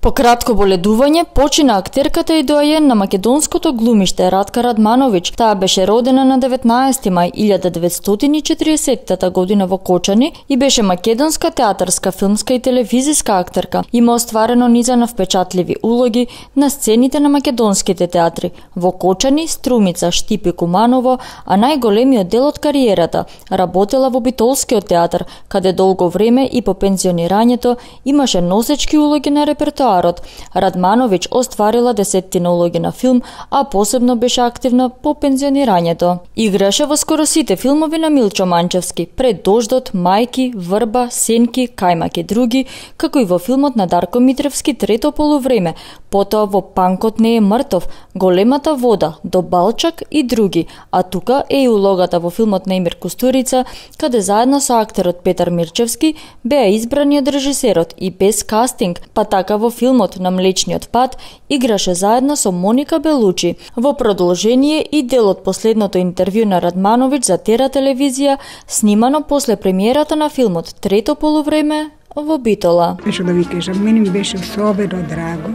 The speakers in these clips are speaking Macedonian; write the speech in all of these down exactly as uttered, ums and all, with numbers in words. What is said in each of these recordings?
По кратко боледување почина актерката и доајен на македонското глумиште Радка Радмановиќ. Таа беше родена на деветнаесети мај илјада деветстотини и четиридесеттата година во Кочани и беше македонска театарска, филмска и телевизиска актерка. Има остварено низа впечатливи улоги на сцените на македонските театри во Кочани, Струмица, Штип и Куманово, а најголемиот дел од кариерата работела во Битолскиот театар, каде долго време и по пензионирањето имаше носечки улоги на репертоар. Радмановиќ остварила десеттина улоги на филм, а посебно беше активна по пензионирањето. Играше во скоро сите филмови на Милчо Манчевски, Пред дождот, Мајки, Врба, Сенки, Кајмак и други, како и во филмот на Дарко Митревски Трето полувреме, потоа во Панкот не е мртов, Големата вода, До Балчак и други, а тука е и улогата во филмот на Емир Кустурица, каде заедно со актерот Петар Мирчевски беа избрани од режисерот и без кастинг, па така во филмот на Млечниот пат играше заедно со Моника Белучи. Во продолжение и дел од последното интервју на Радмановиќ за Тера телевизија, снимано после премиерата на филмот Трето полувреме во Битола. Што да ви кажам, мене ми беше особено драго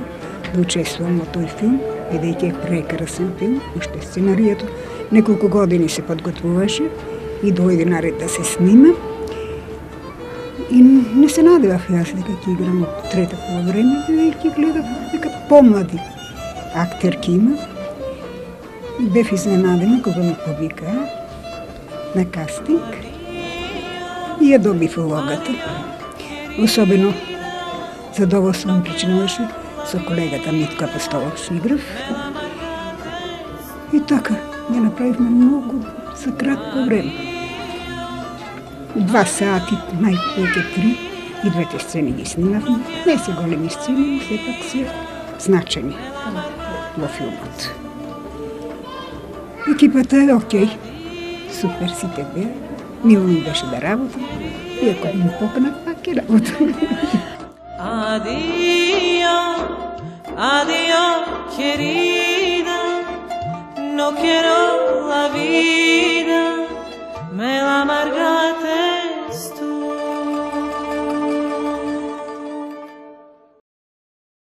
да учествувам во тој филм, бидејќи е прекрасен филм, уште сценаријето неколку години се подготвуваше и дојде наред да се снима. И не се надевав јас дека ќе играм од Трето полувреме, бидејќи гледав дека помлади актерки има. И бев изненадена кога ме повикаа на кастинг и ја добив улогата. Особено задоволство ми причинуваше со колегата Митко Апостолов Шигров. И така, ја направивме многу за кратко време. Два сати, најповеќе три, и двете сцени ги снимавме. Не се големи сцени, но сепак се значени во филмот. Екипата е окей, супер сите беа, мило ми беше да работам, иако ми поканат, пак е работам. Adiós, adiós, querida, no quiero la vida.